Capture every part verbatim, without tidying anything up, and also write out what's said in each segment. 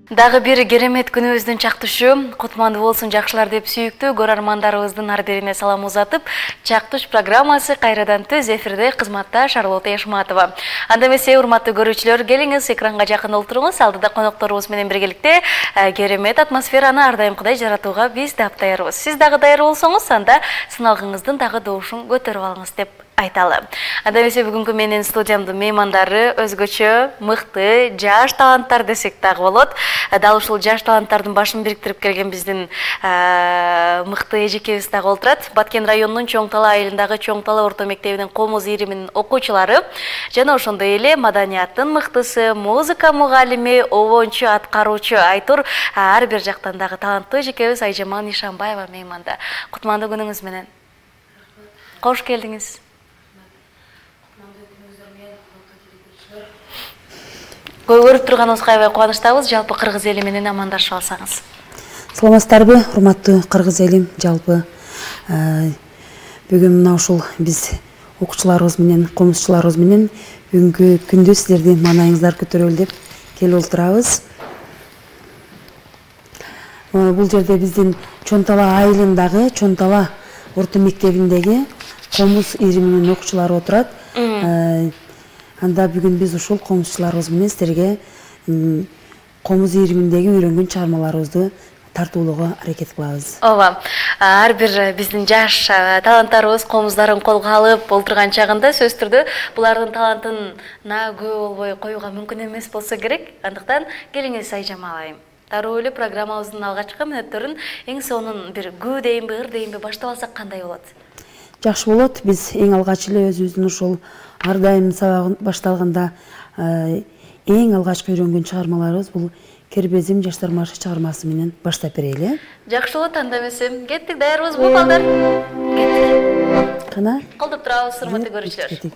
Дагы бир керемет күнүбүздүн чактышы кутмандуу болсун жакшылар деп сүйүктүү көрөрмандарыбыздын ар бирине салам узатып, чактыш программасы кайрадан түз эфирде кызматта Шарлота Яшматова. Анда эмесе, урматтуу көрүүчүлөр, келиңиз экранга жакын олтуруңуз. Алдыда конокторубуз менен биргеликте керемет атмосфераны ар дайымкыдай жаратууга биз дап даярбыз. Сиз дагы даяр болсоңуз, анда сыналгыңыздын дагы добушун көтөрүп алыңыз деп айталы. Анда эмесе, бүгүнкү менин студиямдын меймандары өзгөчө мыкты жаш таланттар десек дагы болот. Дал ушул жаш таланттардын башын бириктирип келген биздин мыкты эжекебиз дагы олтурат. Баткен районунун Чоң Тала айылындагы Чоң Тала орто мектебинин комуз ийриминин окуучулары жана ошондой эле маданияттын мыктысы, музыка мугалими, обончу, аткаруучу Айтур ар бир жактан дагы таланттуу эжекебиз Айжамал Нишанбаева мейманда. Кутмандуу күнүңүз менен. Кош келдиңиз. Көрүп турганыбызга аябай кубанычтабыз. Жалпы кыргыз эли менен амандашып алсаңыз. Саламатсыздарбы, урматтуу кыргыз элим, жалпы бүгүн мына ушул биз окуучуларыбыз менен, комузчуларыбыз менен бүгүнкү күндү сиздердин маанайыңыздар көтөрөлү деп келип олтурабыз. Бул жерде биздин Чоң Тала айылындагы Чоң Тала орто мектебиндеги комуз ийриминин окуучулары отурат. Анда бүгүн биз ушул комузчуларыбыз менен сиздерге комуз ийриминдеги үйрөнгөн чыгармаларыбызды тартуулоого аракет кылабыз. Ооба. Ар бир биздин жаш таланттарыбыз комуздарын колго алып олтурган чагында сөзсүз түрдө булардын талантына күбө болбой коюуга мүмкүн эмес болсо керек. Андыктан келиңиз Айжамал айым. Дароо эле программабыздын алгачкы мүнөттөрүн эң сонун бир күү дейинби, ыр дейинби баштап алсак кандай болот? Жакшы болот. Биз эң алгач эле өзүбүздүн ушул ар дайым сабагы башталганда эң алгачкы үйрөнгөн чыгармаларыбыз бул Кербезим жаштар маршы чыгармасы менен баштап берели. Жакшы болот. Анда эмесе, кеттик, даярбызбы балдар? Кеттик. Кана? Колдоп турабыз, урматтуу көрүүчүлөр.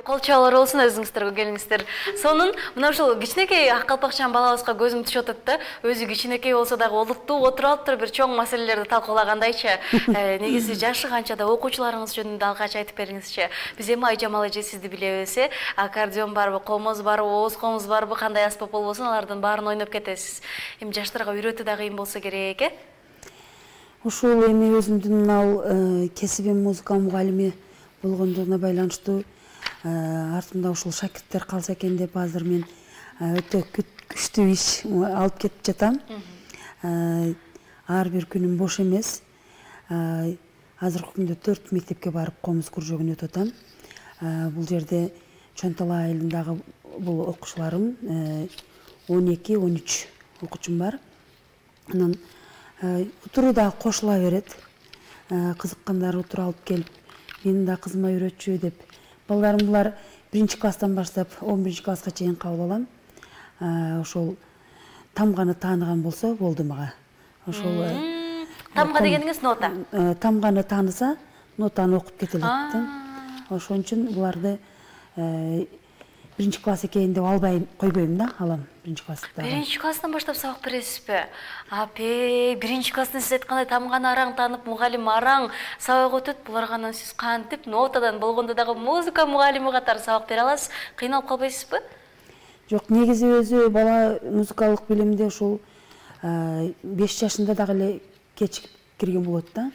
Колчолор болсун, өзүңүздөргө келиңиздер. Сонун мына ушул кичинекей ак калпакчан балабызга көзүм түшүп атат да, өзү кичинекей болсо дагы олуттуу отуруп алыптыр, бир чоң маселелерди талкуулагандайчы. Негизи жашы канча да окуучуларыңыз жөнүндө алгач айтып бериңизчи. Биз эми Айжамал эже сизди билебиз, аккордеон барбы, комуз барбы, ооз комуз барбы, кандай аспап болбосун, алардын баарын ойноп кетесиз. Эми жаштарга үйрөтүү дагы кыйын болсо керек, э? Ушул эми өзүмдүн мына кесибим музыка мугалими болгондугуна байланыштуу артымда ушул шакирттер калса экен деп азыр мен өтө күчтүү иш алып кетип жатам. Ар бир күнүм бош эмес. Азыркы күндө төрт мектепке барып комуз кружогун өтүп атам. Бул жерде Чоң Тала айылындагы бул окуучуларым он эки он үч окуучум бар. Анан утуруу да кошула берет. Кызыккандар утуруп алып келип менин да кызыма үйрөтчү деп. Балдарым булар биринчи класстан баштап он биринчи класска чейин кабыл алам. Ошол тамганы тааныган болсо болду мага. Ошол тамга дегениңиз нота. Тамганы тааныса, нотаны окуп кете алат да. Ошон үчүн буларды биринчи класс экейин деп албай койбойм да, алам биринчи класста. Биринчи класстан баштап сабак бересизби? Апе, биринчи класстан сиз айткандай тамганы араң таанып, мугалим араң сабак өтөт. Буларга анан сиз кантип нотадан болгондо дагы музыка мугалими катары сабак бере аласыз? Кыйналып калбайсызбы? Жок, негизи өзү бала музыкалык билимде ушул беш жашында дагы эле кечип кирген болот да.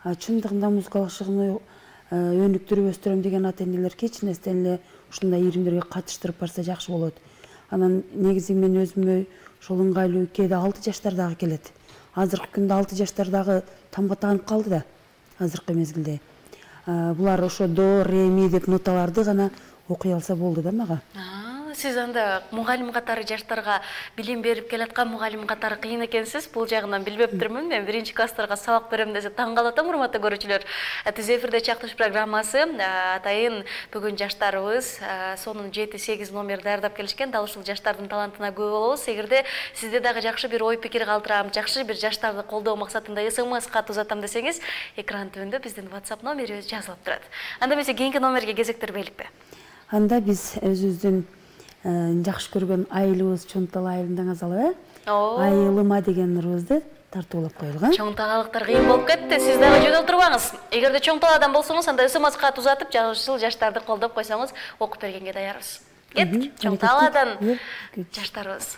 Чындыгында музыкалык шыгымды өнүктүрүп өстүрөм деген ата энелер кеч нерседен эле ушундай иримдерге катыштырып барса жакшы болот. Анан негизи мен өзүмө ошол ыңгайлуу кээде алты жаштардагы келет. Азыркы күндө алты жаштардагы тамга таанып калды да, азыркы мезгилде. Булар ошо до, ре, ми деп ноталарды гана окуй алса болду да мага. Сиз анда мугалим катары жаштарга билим берип келаткан мугалим катары кыйын экенсиз. Бул жагынан билбептирмин. Мен биринчи класстарга сабак берем десе таң калып атам, урматтуу көрүүчүлөр. Түз эфирде чактыш программасы. Атайын бүгүн жаштарыбыз сонун жети сегиз номер даярдап келишкен. Дал ушул жаштардын талантына күбө болобуз. Эгерде сизде дагы жакшы бир ой пикир калтырам, жакшы бир жаштарды колдоо максатында смс кат узатам десеңиз, экран түбүндө биздин WhatsApp номерибиз жазылып турат. Анда эмесе кийинки номерге кезектирбейликпи? Анда биз өзүбүздүн жакшы көргөн айылыбыз Чонтала айылында азалы, айылыма деген ырыбызды тартуулап коелган. Чоңталалыктар кыйын болуп кетти. Сиз дагы жөнөп турбаңыз. Эгерде Чоңталадан болсоңуз, анда смс кат узатып, жашыл жаштарды колдоп койсоңуз, окуп бергенге даярбыз. Кеттик. Чоңталадан жаштарыбыз.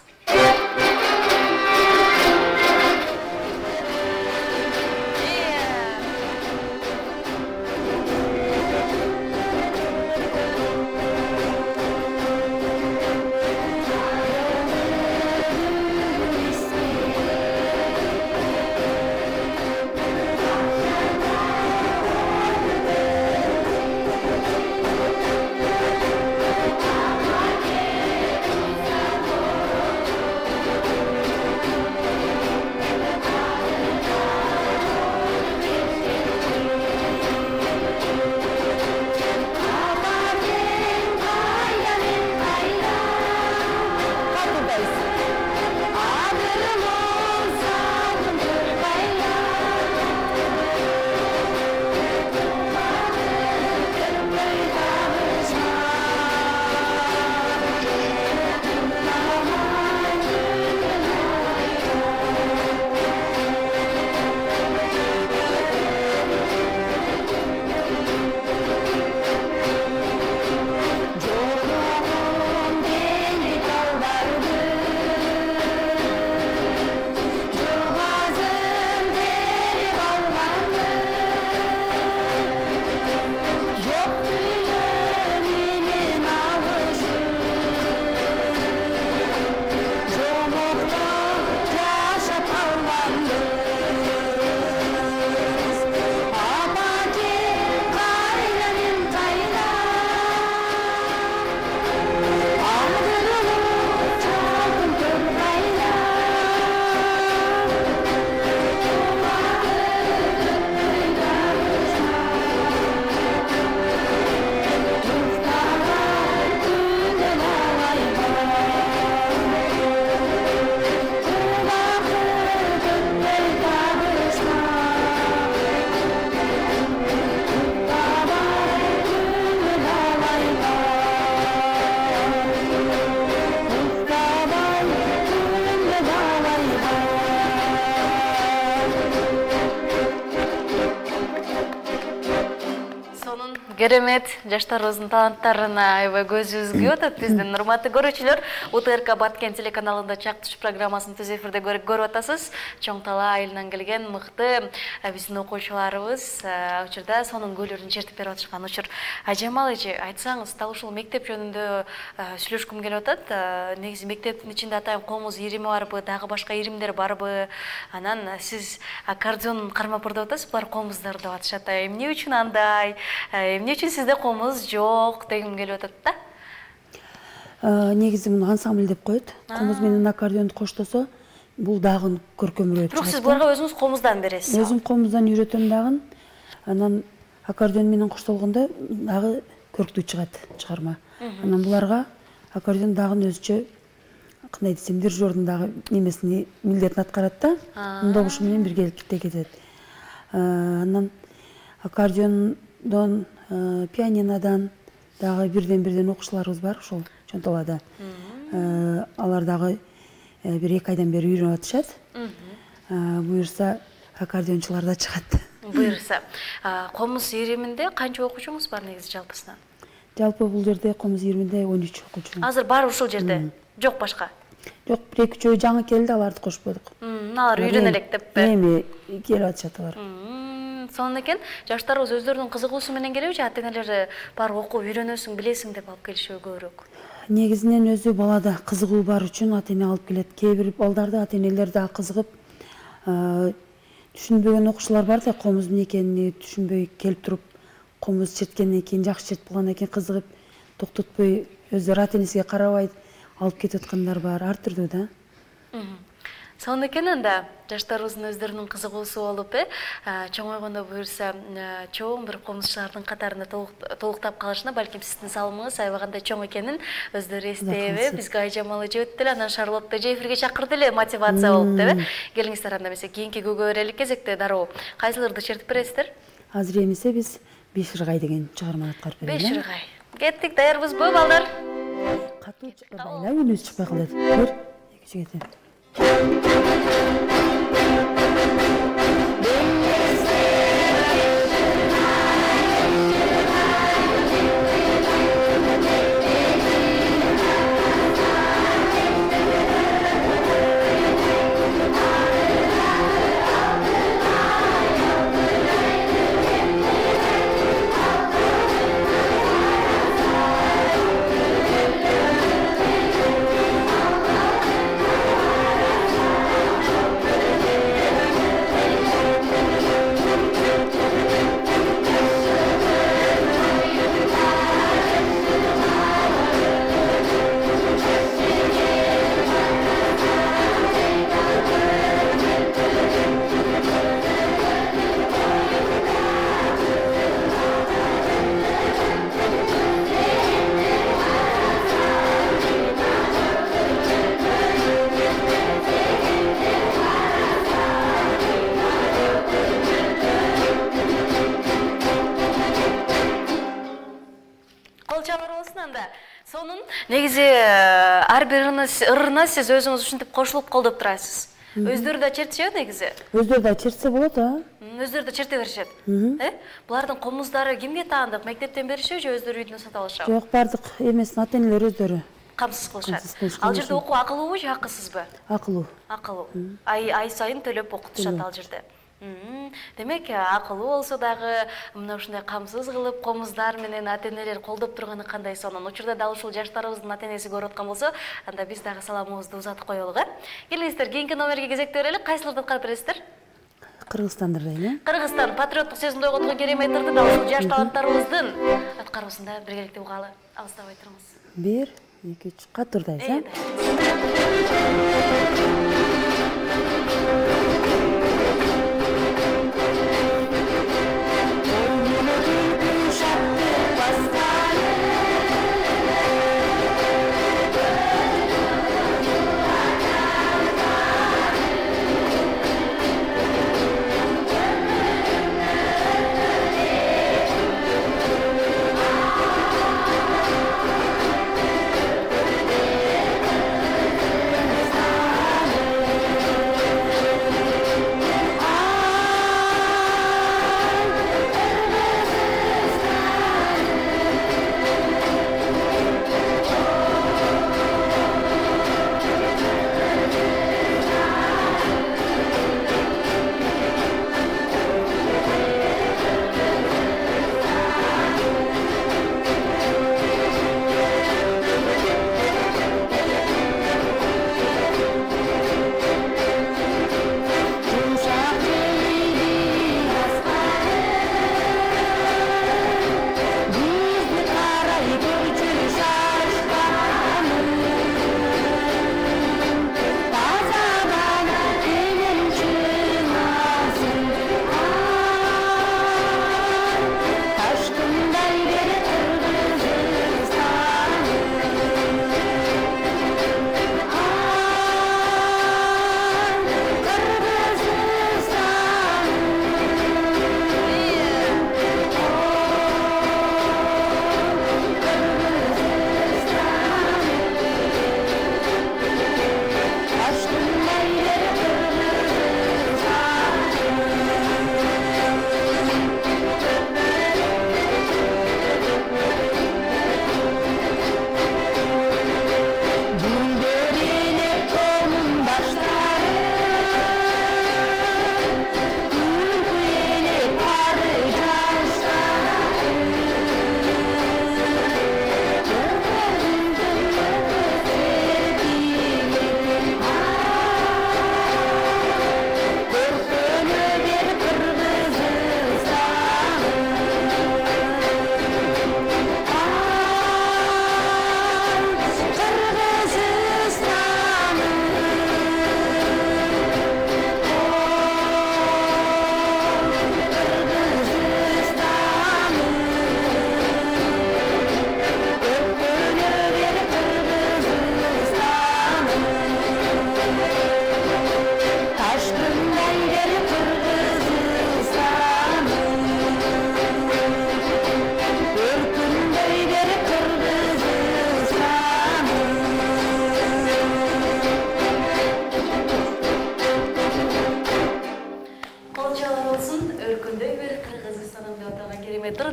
Керемет, жаштарыбыздын таланттарына аябай көзүбүз күйүп атат биздин урматтуу көрүүчүлөр. УТРК Баткен телеканалында чактыш программасын түз эфирде көрүп атасыз. Чоңтала айылынан келген мыкты биздин окуучуларыбыз учурда сонун көйлөрүн чертип берип атышкан учур. Ажамал эже, айтсаңыз, дал ушул мектеп жөнүндө сүйлөшкүм келип атат. Негизи мектептин ичинде атайын комуз ирими барбы, дагы башка иримдер барбы? Анан сиз аккордеон кармап деп атасыз, булар комуздар деп атышат. Эмне үчүн андай? Эмне үчүн сизде комуз жок дегим келип атат да? Негизи муну ансамбль деп коет. Комуз менен аккордеонду коштосо, бул дагы көркөмүрөөт. Бирок сиз буларга өзүңүз комуздан бересиз. Өзүм комуздан үйрөтөм дагы. Анан аккордеон менен коштолгондо дагы көрктүү чыгат чыгарма. Анан буларга аккордеон дагы өзүчө кандай десем, дирижердун дагы немесини милдетин аткарат да. Добушу менен биргеликте кетет. Анан аккордеондон, пианинодан дагы бирден-бирден окуучуларыбыз бар ошол Чонталада. Алар дагы бир эки айдан бери үйрөнүп атышат. Буюрса аккордеончулар да чыгат. Буюрса. Комуз ириминде канча окуучуңуз бар негизи жалпысынан? Жалпы бул жерде Комуз ириминде он үч окуучу. Азыр баары ушул жерде? Жок башка? Жок, бир эки үчөө жаңы келди, аларды кошподук. Алар үйрөнө элек деппи? Эми келип атышат алар. Сонун экен, жаштарыбыз өздөрүнүн кызыгуусу менен келеби же ата-энелери бар окуп үйрөнөсүң, билесиң деп алып келишеби көбүрөөк? Негизинен өзү балада кызыгуу бар үчүн ата-эне алып келет. Кээ бир балдарды ата-энелер да кызыгып, түшүнбөгөн окуучулар бар да, комуздун экенин түшүнбөй келип туруп, комуз черткенден кийин жакшы чертип калгандан кийин кызыгып, токтотпой өздөрү ата-энесине карабай алып кетип аткандар бар, ар түрдүү да. Сонун экен анда жаштарыбыздын өздөрүнүн кызыгуусу болуп, э, чоңойгондо буюрса, чоң бир комузчулардын катарында толуктап калышына балким сиздин салымыңыз аябагандай чоң экенин өздөрү эстеп, бизге айжамал эже өттү эле, анан Шарлотта эже эфирге чакырды эле, мотивация болуп деп, э. Келиңиздер анда эмесе кийинки көөгө берелик кезекте дароо. Кайсыларды чертип бересиздер? Азыр эмесе биз Беш ыргай деген чыгарманы аткарып берели. Беш ыргай. Кеттик, даярбызбы балдар? Катуу чыкпай, үнүбүз чыкпай калат. Бир, эки жигит. Сонун негизи ар бир ырына сиз өзүңүз ушинтип кошулуп колдоп турасыз. Өздөрү да чертишеби негизи? Өздөрү да чертсе болот, а? Өздөрү да черте беришет. Э? Булардын комуздары кимге таандык? Мектептен беришеби же өздөрү үйдөн сатып алышабы? Жок, бардык эмесин ата-энелер өздөрү камсыз кылышат. Ал жерде окуу акылуубу же акысызбы? Акылуу. Акылуу. Ай ай сайын төлөп окутушат ал жерде. Демек, акылуу болсо дагы мына ушундай камсыз кылып, комуздар менен ата-энелер колдоп турганы кандай сонун. Учурда дал ушул жаштарыбыздын ата-энеси көрүп аткан болсо, анда биз дагы саламыбызды узатып коелук, э? Келиңиздер, кийинки номерге кезекте берели. Кайсыларды аткарып бересиздер? Кыргызстанды дейли. Кыргызстан патриоттук сезимди ойготкон керемет ырды дал ушул жаш таланттарыбыздын аткаруусунда биргеликте угалы. Алыстабай туруңуз. бир, эки, үч, катурдайбыз, э?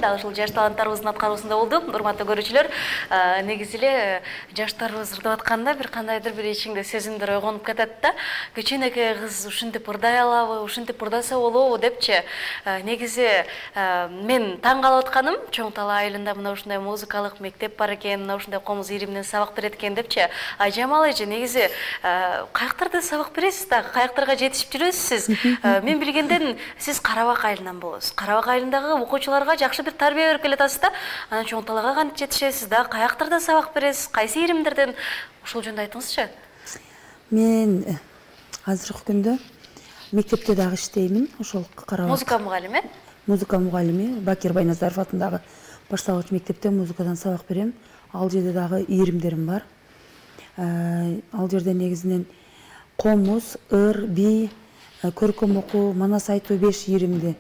дагы ушул жаш таланттарыбыздын аткаруусунда болду. Урматтуу көрүүчүлөр, негизи эле жаштарыбыз ырдап атканда бир кандайдыр бир ичиңде сезимдер ойгонуп кетет да. Кичинекей кыз ушинтип ырдай алабы, ушинтип ырдаса болобу депчи. Негизи мен таң калып атканым, Чоң Тала айылында мына ушундай музыкалык мектеп бар экен, мына ушундай комуз ириминен сабак берет экен депчи. Айжамал эже, негизи каяктарда сабак бересиз да, каяктарга жетишип жүрөсүз сиз? Мен билгенден сиз Карабак айылынан болосуз. Карабак айылындагы окуучуларга жакшы бир тарбия берип келатасыз да. Анан Чоң Талага кантип жетишесиз да? Каяктарда сабак бересиз? Кайсы иримдерден? Ушул жөнүндө айтыңызчы. Мен азыркы күндө мектепте дагы иштеймин. Ошол Карабак. Музыка мугалими? Музыка мугалими. Бакир Байназаров атындагы башталгыч мектепте музыкадан сабак берем. Ал жерде дагы иримдерим бар. Ал жерде негизинен комуз, ыр, би, көркөм окуу, манас айтуу беш иримди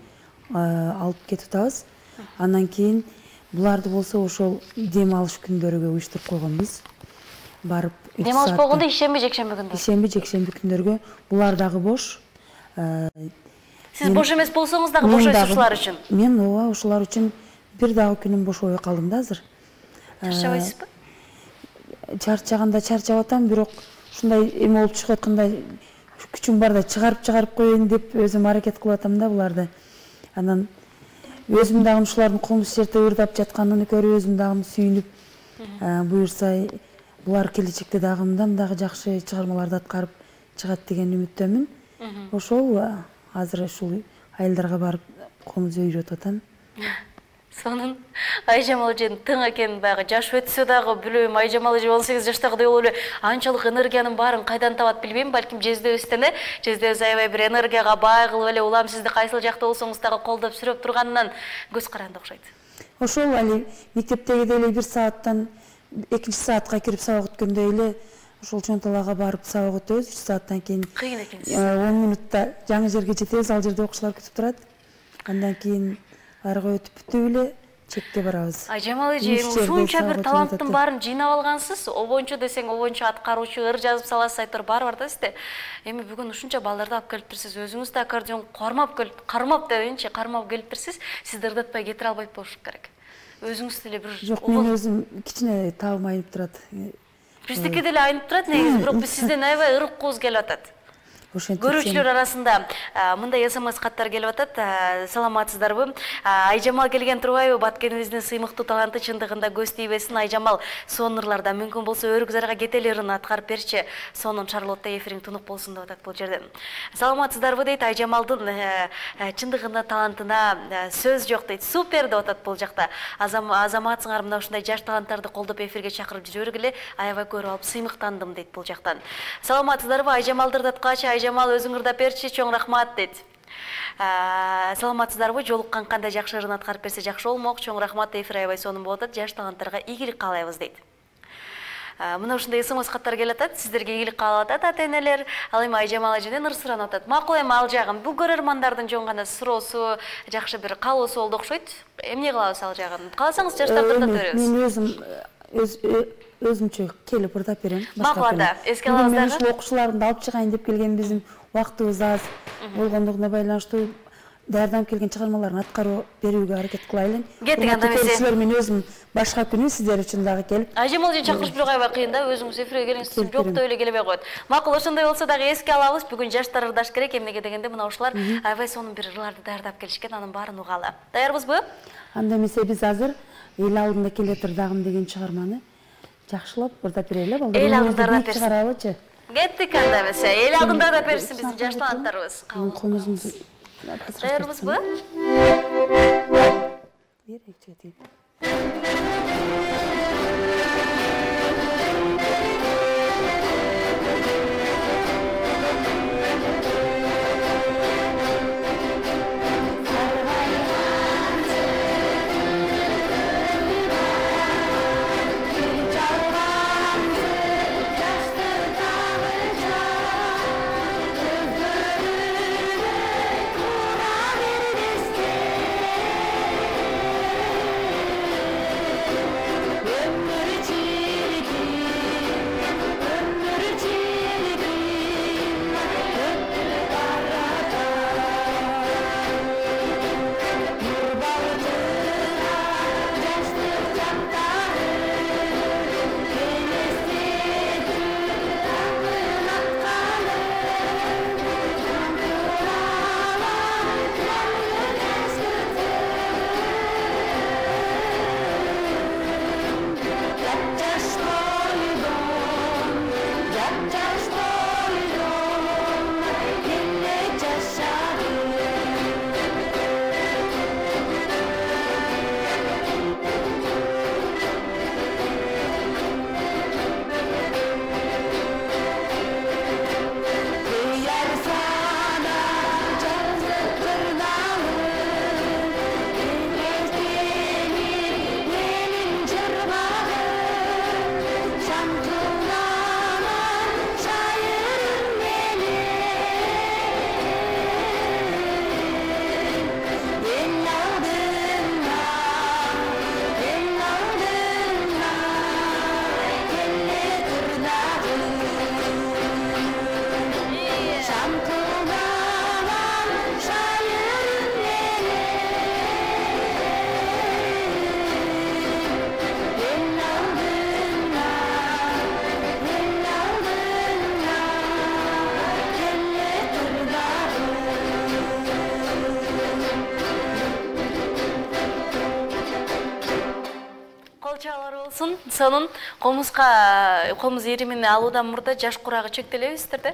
алып кетип атабыз. Андан кийин буларды болсо ошол дем алыш күндөрүгө уюштуруп койгонбуз. Барып дем алыш болгондо ишемби, жекшемби күндө? Ишемби, жекшемби күндөргө. Булар дагы бош. Сиз бош эмес болсоңуз дагы бошойсуз ушулар үчүн? Мен ооба, ушулар үчүн бир дагы күнүм бошобой калдым да азыр. Чарчабайсызбы? Чарчаганда чарчап атам, бирок ушундай эме болуп чыгып аткандай күчүм барда чыгарып-чыгарып коеюн деп өзүм аракет кылып атам да буларды. Анан өзүм дагы ушулардын комуз жерде ырдап жатканын көрүп, өзүм дагы сүйүнүп, буюрса булар келечекте дагы мындан дагы жакшы чыгармаларды аткарып чыгат деген үмүттөмүн. Ошол азыр ушул айылдарга барып комуз үйрөтүп атам. Сонун Айжамал эженин тың экен, баягы жаш өтсө дагы билбейм, Айжамал эже он сегиз жаштагыдай болуп эле анчалык энергиянын баарын кайдан табат билбейм, балким жездебизден э, жездебиз аябай бир энергияга бай кылып эле улам сизди кайсыл жакта болсоңуз дагы колдоп сүрөп турганынан көз каранды окшойт. Ошол али мектептегидей эле бир сааттан экинчи саатка кирип сабак өткөндөй эле ошол Чоң Талага барып сабак өтөбүз. үч сааттан кийин кыйын экенсиз. он минутта жаңы жерге жетебиз, ал жерде окуучулар күтүп турат. Андан кийин арга өтүп бүтүп эле чекке барабыз. Айжамал эже, ушунча бир таланттын баарын жыйнап алгансыз. Обончу десең обончу, аткаруучу, ыр жазып саласыз, айтор баары бар да сизде. Эми бүгүн ушунча балдарды алып келиптирсиз, өзүңүз да аккордеон кармап келип, кармап дейинчи, кармап келиптирсиз. Сизди ырдатпай кетире албайт болуш керек. Өзүңүз деле бир жок, мен өзүм кичине табым айнып турат. Биздики деле айнып турат негизи, бирок биз сизден аябай ырыккубуз келип атат. Көрүүчүлөр арасында мындай смс каттар келип атат. Саламатсыздарбы? Айжамал келген турбайбы? Баткенибиздин сыймыктуу таланты чындыгында көз тийбесин. Айжамал сонун ырларда мүмкүн болсо өрүк зарга кетели ырын аткарып берчи. Сонун Шарлотта эфириң тунук болсун деп атат бул жерден. Саламатсыздарбы дейт. Айжамалдын чындыгында талантына сөз жок дейт. Супер деп атат бул жакта. Азаматсыңар, мына ушундай жаш таланттарды колдоп эфирге чакырып жүрө бергиле. Аябай көрүп алып сыймыктандым дейт бул жактан. Саламатсыздарбы? Айжамалды ырдаткачы Айжамал өзүң ырдап берчи, чоң рахмат дейт. Саламатсыздарбы? Жолуккан кандай жакшы ырын аткарып берсе жакшы болмок. Чоң рахмат, эфир аябай сонун болуп атат. Жаш таланттарга ийгилик каалайбыз дейт. Мына ушундай смс каттар келип атат. Сиздерге ийгилик каалап атат ата-энелер. Ал эми Айжамал эжеден ыр суранып атат. Макул эми ал жагын. Бул көрөрмандардын жөн гана суроосу, жакшы бир каалоосу болду окшойт. Эмне кылабыз ал жагын? Кааласаңыз жаштарды ырдап беребиз. Мен өзүм өзүмчө келип ырдап берем. Макул анда, эске алабыз дагы. Ушул окуучуларымды алып чыгайын деп келген, биздин убактыбыз аз болгондугуна байланыштуу даярданып келген чыгармаларын аткарып берүүгө аракет кылайлы. Кеттик анда эмесе. Силер мен өзүм башка күнү сиздер үчүн дагы келип. Айжамал эжени чакырыш бирок аябай кыйын да, өзүңүз эфирге келиңиз, жок деп эле келбей коет. Макул, ошондой болсо дагы эске алабыз. Бүгүн жаштар ырдаш керек, эмнеге дегенде мына ушулар аябай сонун бир ырларды даярдап келишкен, анын баарын угалы. Даярбызбы? Анда эмесе биз азыр эл алдында келетир дагым деген чыгарманы жакшылап ырдап берели, балдар. Эл алдында ырдап берсин. Чыгаралычы. Кеттик анда эмесе. Эл алдында ырдап берсин биздин жаш таланттарыбыз. Комузубузду даярбызбы? Берек Ömür болсун. Сонун комузга комуз иримини алуудан мурда жаш курагы чектелебиздер да.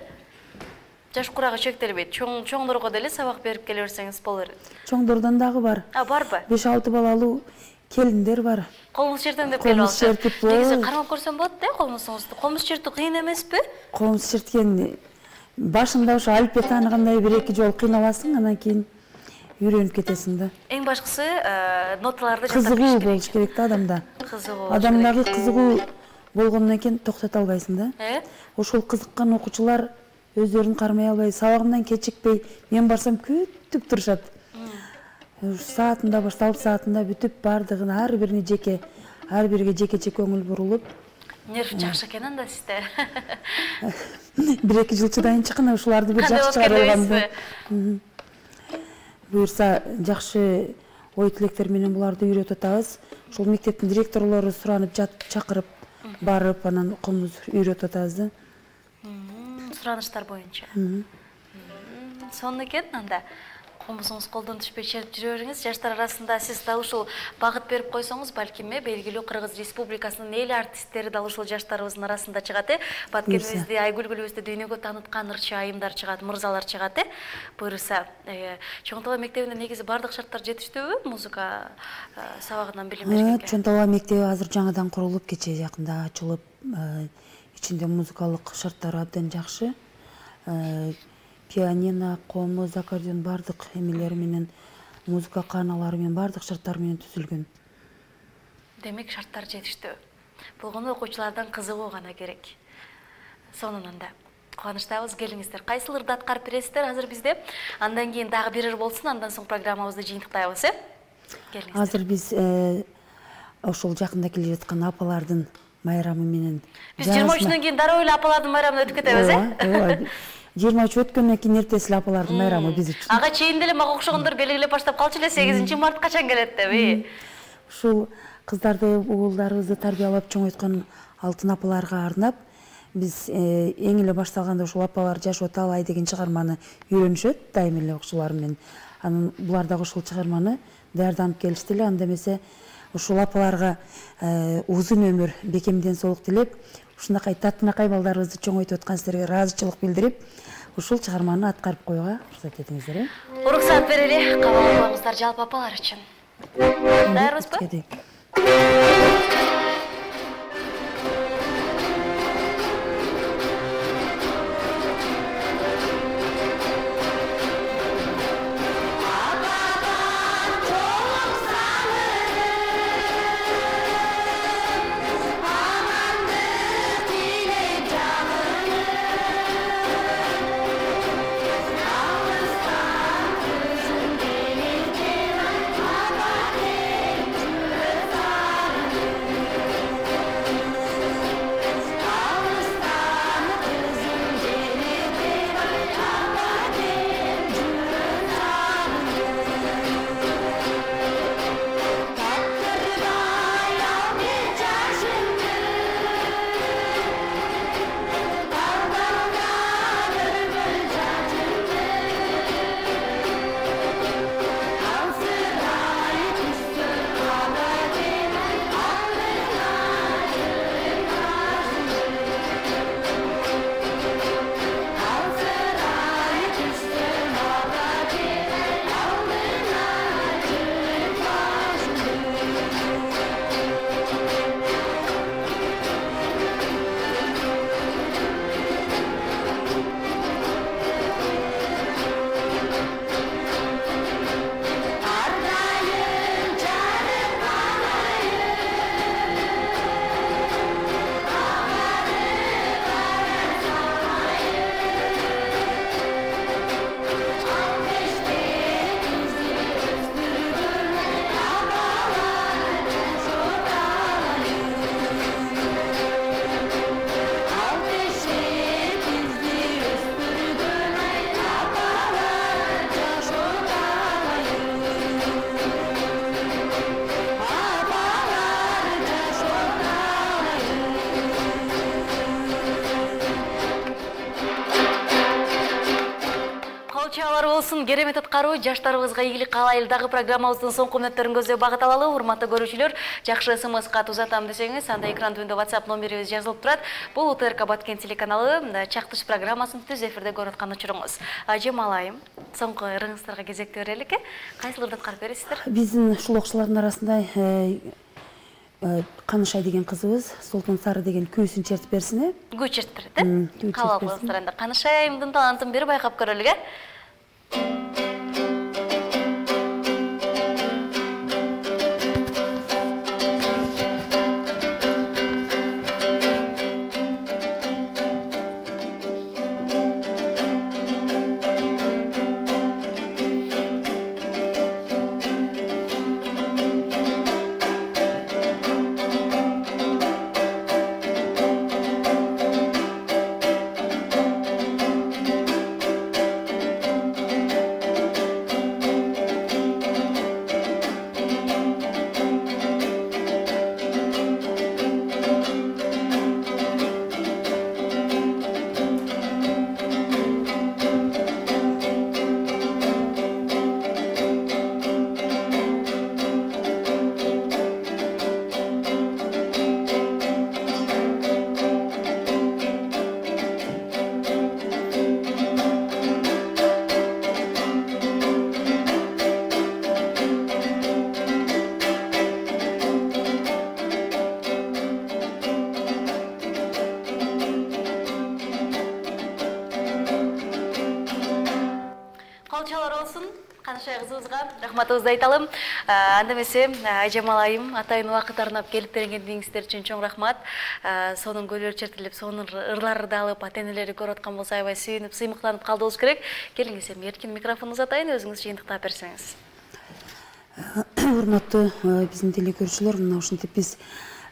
Жаш курагы чектелбейт. Чоң чоңдорго деле сабак берип келе берсеңиз болор. Чоңдордон дагы бар. А, барбы? беш алты балалуу келиндер бар. Комуз чертем деп келип алса. Негизи кармап көрсөм болот да комузуңузду. Комуз чертүү кыйын эмеспи? Комуз черткен башында ошо алфавит тааныгандай бир эки жолу кыйналасың, анан кийин үйрөнүп кетесиң да. Эң башкысы ноталарды кызыгуу болуш керек да адамда. Кызыгуу. Адамдагы кызыгуу болгондон кийин токтото албайсың да. Э? Ошол кызыккан окуучулар өздөрүн кармай албай, сабагынан кечикпей, мен барсам күтүп турушат. Саатында башталып, саатында бүтүп, бардыгын ар бирине жеке, ар бирге жеке-жеке көңүл бурулуп. Нерв жакшы экен анда сизде. бир эки жыл чыдайын чыккан ушуларды бир жакшы чыгарып алгам. Буюрса жакшы ой тилектер менен буларды үйрөтүп атабыз. Ушул мектептин директорлору суранып жатып, чакырып, барып, анан комуз үйрөтүп атабыз да. Сураныштар боюнча. Сонун экен анда. Комузуңуз колдон түшпөй чертип жүрө бериңиз. Жаштар арасында сиз дал ушул багыт берип койсоңуз, балким белгилүү Кыргыз Республикасынын эл артисттери дал ушул жаштарыбыздын арасында чыгат э. Баткенибизди, Айгүлгүлүбүздү дүйнөгө тааныткан ырчы айымдар чыгат, мырзалар чыгат э. Буюрса, Чоң Талаа мектебинде негизи бардык шарттар жетиштүүбү музыка сабагынан билим бергенге? Чоң Талаа мектеби азыр жаңадан курулуп, кечээ жакында ачылып, ичинде музыкалык шарттары абдан жакшы. Пианино, комуз, аккордеон бардык эмелери менен, музыка кааналары менен бардык шарттар менен түзүлгөн. Демек шарттар жетиштүү. Болгону окуучулардан кызыгуу гана керек. Сонун анда. Кубанычтабыз, келиңиздер. Кайсыл ырды аткарып бересиздер азыр бизде? Андан кийин дагы бир ыр болсун, андан соң программабызды жыйынтыктайбыз, э? Келиңиздер. Азыр биз ошол жакында келе жаткан апалардын майрамы менен. Биз жыйырма үчүнөн кийин дароо эле апалардын майрамына өтүп кетебиз, э? жыйырма үч өткөндөн кийин эртеси эле апалардын майрамы биз үчүн. Ага чейин деле мага окшогондор белгилеп баштап калчу эле сегизинчи март качан келет деп. Ушул кыздарды, уулдарыбызды тарбиялап чоңойткон алтын апаларга арнап биз эң эле башталганда ушул апалар жашоо талай деген чыгарманы үйрөнүшөт дайым эле окуучулар менен. Анан булар дагы ушул чыгарманы даярданып келишти эле. Анда эмесе ушул апаларга узун өмүр, бекемден соолук тилеп, ушунакай татынакай балдарыбызды чоңойтуп аткан сиздерге ыраазычылык билдирип, ушул чыгарманы аткарып коюуга уруксат этиңиздер, э? Уруксат берели, кабыл албаңыздар жалпы апалар үчүн. Даярбызбы? болсун, керемет аткаруу, жаштарыбызга ийгилик каалайлы. Дагы программабыздын соңку мүнөттөрүн көздөй багыт алалы. Урматтуу көрүүчүлөр, жакшы смс кат узатам десеңиз, анда экран түбүндө WhatsApp номерибиз жазылып турат. Бул УТРК Баткен телеканалы чактыш программасын түз эфирде көрүп аткан учуруңуз. Ажемал айым, соңку ырыңыздарга кезекти берелик. Кайсыларды аткарып бересиздер? Биздин ушул окуучулардын арасында Канышай деген кызыбыз Султан Сары деген күүсүн чертип берсин, э? Күү чертип берет, э? Кабыл кылыңыздар анда. Канышай айымдын талантын бир байкап көрөлүк, э? Рахматыбызды айталым. Анда эмесе Айжамал айым атайын убакыт арнап келип бергениңиздер үчүн чоң рахмат. Сонун көйлөр чертилип, сонун ырларды алып, ата-энелери көрүп аткан болсо аябай сүйүнүп, сыймыктанып калдыбыз керек. Келиңиз, эми эркин микрофонду узатайын, өзүңүз жыйынтыктап берсеңиз. Урматтуу биздин телекөрүүчүлөр, мына ушинтип биз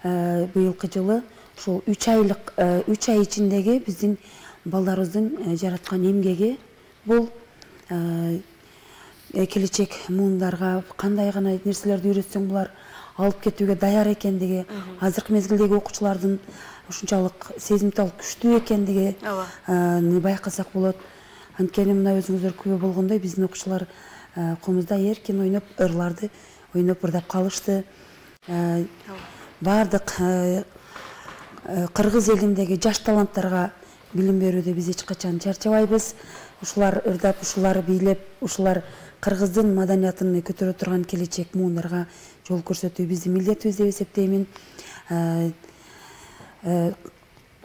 быйылкы жылы ушул үч айлык үч ай ичиндеги биздин балдарыбыздын жараткан эмгеги бул келечек муундарга кандай гана нерселерди үйрөтсөң булар алып кетүүгө даяр экендиги, азыркы мезгилдеги окуучулардын ушунчалык сезимтал күчтүү экендигин байкасак болот. Анткени мына өзүңүздөр күбө болгондой биздин окуучулар комузда эркин ойноп, ырларды ойноп ырдап калышты. Бардык кыргыз элиндеги жаш таланттарга билим берүүдө биз эч качан чарчабайбыз. Ушулар ырдап, ушулар бийлеп, ушулар кыргыздын маданиятын көтөрө турган келечек муундарга жол көрсөтүү биздин милдетибиз деп эсептеймин.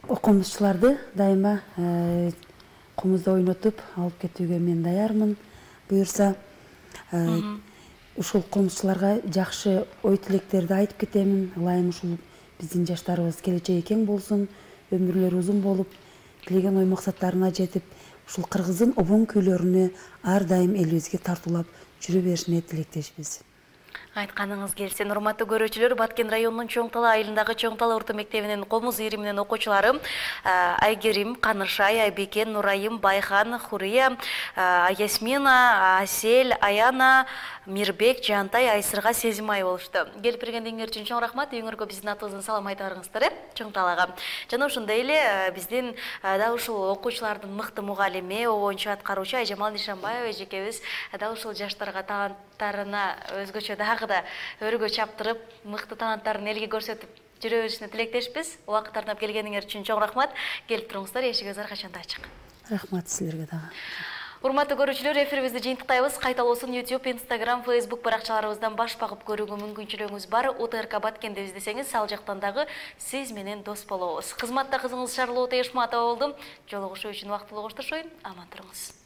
Комузчуларды дайыма комузда ойнотуп алып кетүүгө мен даярмын. Буюрса, ушул комузчуларга жакшы ой тилектерди айтып кетемин. Ылайым ушул биздин жаштарыбыз келечеги кең болсун, өмүрлөрү узун болуп, тилеген ой максаттарына жетип, ушул кыргыздын обон күйлөрүнө ар дайым элибизге тартуулап жүрө беришине тилектешпиз. Айтканыңыз келсин. Урматтуу көрүүчүлөр, Баткен районунун Чоң Тала айылындагы Чоң Тала орто мектебинин комуз ийриминин окуучулары Айгерим, Канышай, Айбеке, Нурайым, Байхан, Хурия, Ясмина, Асель, Аяна, Мирбек, Жантай, Айсырга, Сезимай болушту. Келип бергениңер үчүн чоң рахмат. Үйүңөргө биздин атыбыздан салам айтарыңыздар, э? Чоң Талага. Жана ошондой эле биздин да ушул окуучулардын мыкты мугалими, обончу аткаруучу Айжамал Нишанбаева эжекебиз да ушул жаштарга таланттарына өзгөчө дагы да өргө чаптырып, мыкты таланттарын элге көрсөтүп жүрө беришине тилектешпиз. Убакыт арнап келгениңер үчүн чоң рахмат. Келип туруңуздар, эшигиңиз ар качанда ачык. Рахмат силерге дагы. Урматтуу көрүүчүлөр, эфирибизди жыйынтыктайбыз. Кайталоосун YouTube, Instagram, Facebook баракчаларыбыздан баш багып көрүүгө мүмкүнчүлүгүңүз бар. УТРК Баткен деп издесеңиз, ал жактан дагы сиз менен дос болобуз. Кызматта кызыңыз Шарлота Эшматова болду. Жолугушуу үчүн убактылуу коштошоюн. Аман туруңуз.